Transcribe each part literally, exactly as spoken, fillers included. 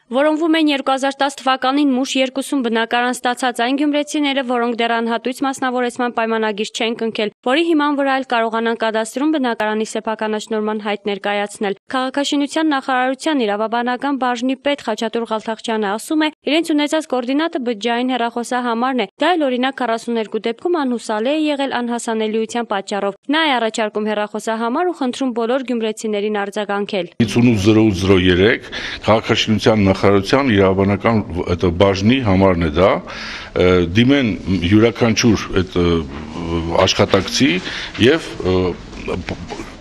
Որոնվում են երկու հազար տասը թվականին մուշ երկուսում բնակարան ստացած այն գյումրեցիները, որոնք դեռ անհատույց մասնավորեցման պայմանագիր չեն կնքել, որի հիման վրա էլ կարողանան կադաստրում բնակարանի սեփականաշնորհման հայտ ներկայացնել։ Քաղաքաշինության նախարարության իրավաբանական բաժնի պետ Խաչատուր Ղալթախչյանը ասում է, իրենց ունեցած կոորդինատը բջջային հեռախոսահամարն է, դա էլ օրինակ քառասուներկու դեպքում անհուսալի է եղել անհասանելիության պատճառով։ Նա է առաջարկում հեռախոսահամար ու խնդրում բոլոր գյումրեցիներին արձագանքել։ հինգ ութ զրո զրո երեք քաղաքաշինության նախարարության իրավաբանական բաժնի համարն է դա, դիմեն յուրաքանչյուր այդ աշխատակցի եւ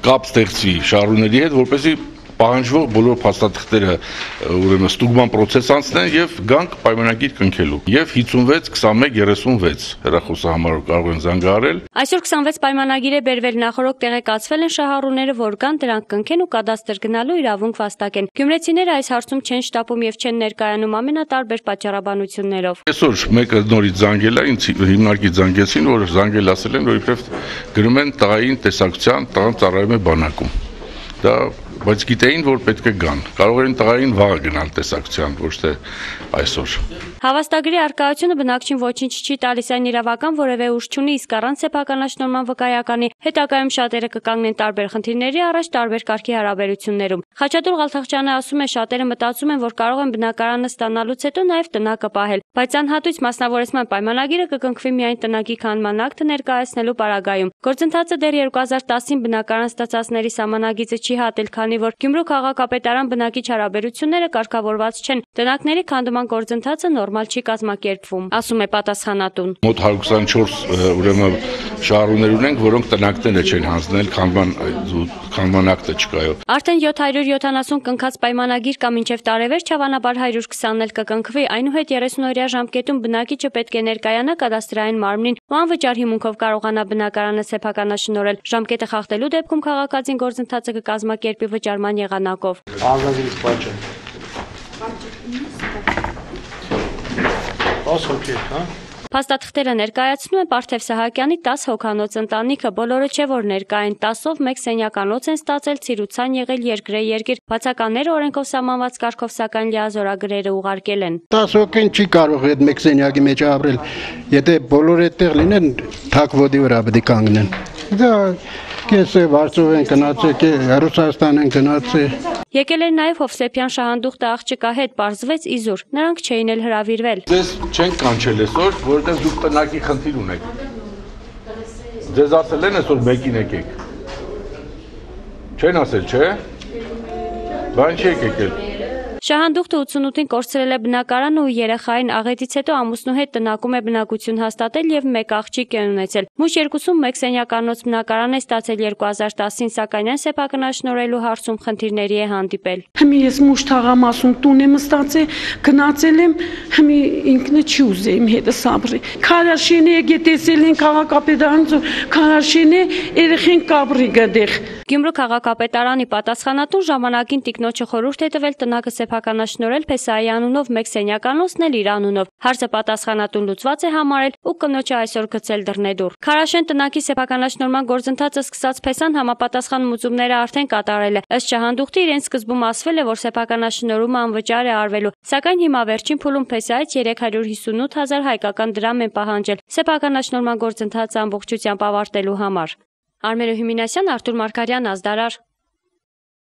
կապ ստեղծի շահառուների հետ, որպեսզի պահանջվող բոլոր փաստաթղթերը ուրեմն ստուգման process անցնեն եւ գանք պայմանագիր կնքելու։ Եվ հինգ վեց քսանմեկ երեսունվեց հեռախոսահամարով կարող են զանգահարել։ Այսօր քսանվեց պայմանագիր է բերվել, նախորդ տեղեկացվել են շահառուները, որ կան դրանք կնքեն ու կադաստր գնալու իրավունք վաստակեն։ Գյումրեցիները այս հարցում չեն շտապում եւ չեն ներկայանում ամենատարբեր պատճառաբանություններով։ Այսօր մեկը նորից զանգել է, ինձ հիմնարկի զանգեցին, որ զանգել ասել են, որ իբրև գրում են տղային տեսակցության, տղան ծառայում է բանակում։ Դա բայց գիտեին, որ պետք է գան։ Կարող են տղային վաղը գնալ տեսակցության, ոչ թե այսօր։ Հավաստագրի արկայությունը բնակչին ոչինչ չի տալիս, այն իրավական որևէ ուժ չունի, իսկ առանց սեփականաշնորհման վկայականի հետագայում շատերը կկանգնեն տարբեր խնդիրների առաջ տարբեր կարգի հարաբերություններում։ Խաչատուր Ղալթախչյանը ասում է, շատերը մտածում են, որ կարող են բնակարանը ստանալուց հետո նաև տնակը պահել, բայց անհատույց մասնավորեցման պայմանագիրը կկնքվի միայն տնակի քանդման ակտը ներկայացնելու պարագայում։ Գործընթացը դեռ երկու հազար տասին բնակարան ստացածների սահմանագիծը չի հատել, քանի որ Գյումրու քաղաքապետարան բնակիչ հարաբերությունները կարգավորված չեն, տնակների քանդման գործընթացը նորմալ չի կազմակերպվում, ասում է պատասխանատուն։ Մոտ հարյուր քսանչորս ուրեմն շահառուներ ունենք, որոնք տնակները չեն հանձնել, քանդման քանդման ակտը չկայով։ Արդեն յոթ հարյուր յոթանասուն կնքած պայմանագիր կա մինչև տարեվերջ, հավանաբար հարյուր քսանն էլ կկնքվի, այնուհետ երեսունօրյա ժամկետում բնակիչը պետք է ներկայանա կադաստրային մարմնին ու անվճար հիմունքով կարողանա բնակարանը սեփականաշնորհել։ Ժամկետը խախտելու դեպքում քաղաքացին գործընթացը կկազմակերպի վճարման եղանակով։ Անհրաժեշտ պատճառ։ Փաստաթղթերը ներկայացնում է Պարթև Սահակյանի տասը հոգանոց ընտանիքը, բոլորը չէ որ ներկա են, տասով մեկ սենյականոց են ստացել, ցիրուցան եղել երկրե երկիր, բացականները օրենքով սահմանված կարգով սակայն լիազորագրերը ուղարկել են։ տասը հոգին չի կարող այդ մեկ սենյակի մեջ ապրել, եթե բոլորը այդտեղ լինեն, թակ ոտի վրա պետք է կանգնեն։ Դա կեսը Վարշավ են գնացել, Ռուսաստան են գնացել։ Եկել էր նաև Հովսեփյան շահանդուխտը աղջկա հետ, պարզվեց իզուր, նրանք չէին էլ հրավիրվել։ Ձեզ չեն կանչել այսօր, որովհետև դուք տնակի խնդիր ունեք։ Ձեզ ասել են այսօր մեկին եկեք։ Չեն ասել, չէ՞։ Բան չի եկել։ Շահանդուխտը ութսունութին կորցրել է բնակարանը ու երեխային, աղետից հետո ամուսնու հետ տնակում է բնակություն հաստատել եւ մեկ աղջիկ է ունեցել։ Մուշ երկուսում մեկ սենյականոց բնակարան է ստացել երկու հազար տասին, սակայն այն սեփականաշնորհելու հարցում խնդիրների է հանդիպել։ Հիմի ես մուշ թաղամասում տուն եմ ստացել, գնացել եմ, հիմի ինքնը չի ուզե իմ հետը սաբրի։ Քարաշենի եկե տեսել են քաղաքապետարանը, քարաշենի երեխեն կաբրի գդեղ։ Գյումրու քաղաքապետարանի պատասխանատուն ժամանակին տիկնոջը խորհուրդ է տվել տնակը սեփականաշնորհել Փեսայի անունով մեկ սենյականոցն էլ իր անունով։ Հարցը պատասխանատուն լուծված է համարել ու կնոջը այսօր գցել դռնեդուռ։ Քարաշեն տնակի սեփականաշնորհման գործընթացը սկսած Փեսան համապատասխան մուծումները արդեն կատարել է։ Ըստ շահանդուխտի իրենց սկզբում ասվել է, որ սեփականաշնորհումը անվճար է արվելու, սակայն հիմա վերջին փուլում Փեսայից երեք հարյուր հիսունութ հազար հայկական դրամ են պահանջել սեփականաշնորհման գործընթացը ամբողջությամբ ավարտելու համար։ Արմենո Հյումինասյան, Արթուր Մարգարյան, Ազդարար։